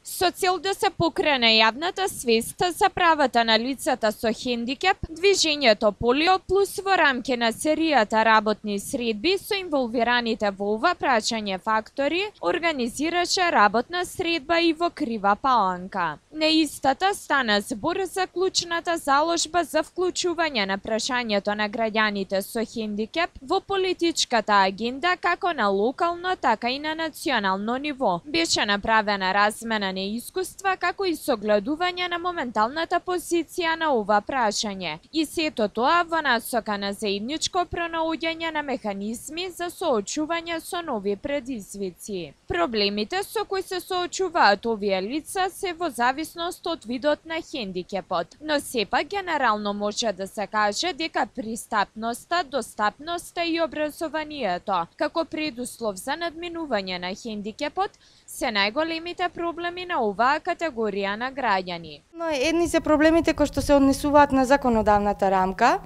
Со цел да се покрене јавната свест за правата на лицата со хендикеп, движењето Полио Плюс во рамки на серијата работни средби со инволвираните во ова прашање фактори, организираше работна средба и во Крива Паланка. На истата стана збор за клучната заложба за вклучување на прашањето на граѓаните со хендикеп во политичката агенда како на локално, така и на национално ниво. Беше направена размена на искуства како и согледување на моменталната позиција на ова прашање. И сето тоа во насока на заедничко пронаоѓање на механизми за соочување со нови предизвици. Проблемите со кои се соочуваат овие лица се во зависност од видот на хендикепот, но сепак генерално може да се каже дека пристапноста, достапноста и образованието како предуслов за надминување на хендикепот се најголемите проблеми на оваа категорија на граѓани. Но едни се проблемите кои што се однесуваат на законодавната рамка,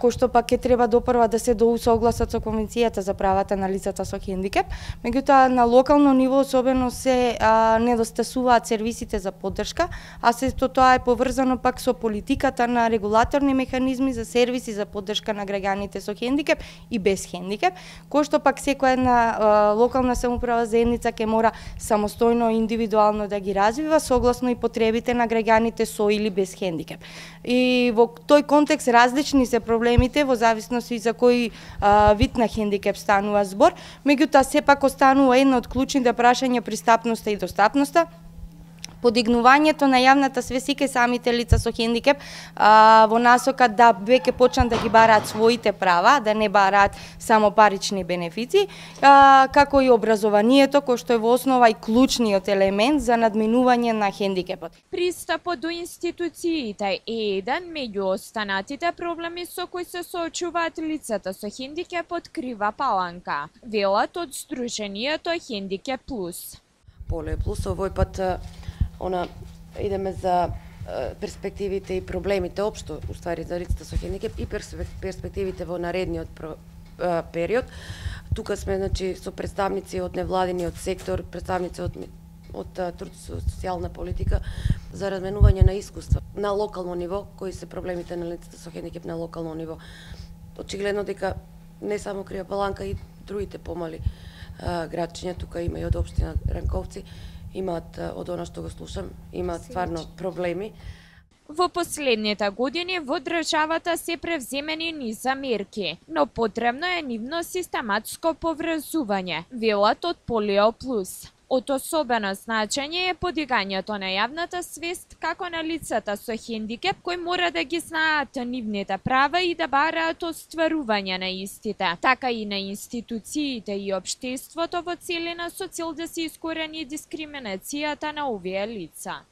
кои што пак ќе треба допрва да се доусогласат со Конвенцијата за правата на лицата со хендикеп, меѓутоа на локално ниво особено се недостасуваат сервисите за поддршка, а сето тоа е поврзано пак со политиката на регулаторни механизми за сервиси за поддршка на граѓаните со хендикеп и без хендикеп, кој што пак секоја една локална самоуправа заедница ќе мора самостојно и индивидуално да ги развива согласно и потребите на граѓаните со или без хендикеп. И во тој контекст различни се проблемите во зависност и за кој вид на хендикеп станува збор, меѓутоа сепак останува едно од клучните прашања пристапноста и достапноста, подигнувањето на јавната свест и кај самите лица со хендикеп во насока да веќе почнат да ги бараат своите права, да не бараат само парични бенефици, како и образованието кој што е во основа и клучниот елемент за надминување на хендикепот. Пристапот до институциите е еден меѓу останатите проблеми со кои се соочуваат лицата со хендикеп од Крива Паланка, велат од Сдруженијето Хендикеп Плюс. Полио Плюс овој пат идеме за перспективите и проблемите општо, уствари за лицата со хендикеп и перспективите во наредниот период. Тука сме со представници од невладиниот сектор, представници од труд и социјална политика за разменување на искуства на локално ниво, кои се проблемите на лицата со хендикеп на локално ниво. Очигледно дека не само Крива Паланка и другите помали градчиња, тука има и од општина Ранковци, имаат, од она што го слушам, имаат стварно проблеми. Во последните години во државата се превземени низа мерки, но потребно е нивно систематско поврзување, велат од Полио Плюс. Од особено значење е подигањето на јавната свест како на лицата со хендикеп кои мора да ги знаат нивните права и да бараат остварување на истите, така и на институциите и општеството во целина со цел да се искорени дискриминацијата на овие лица.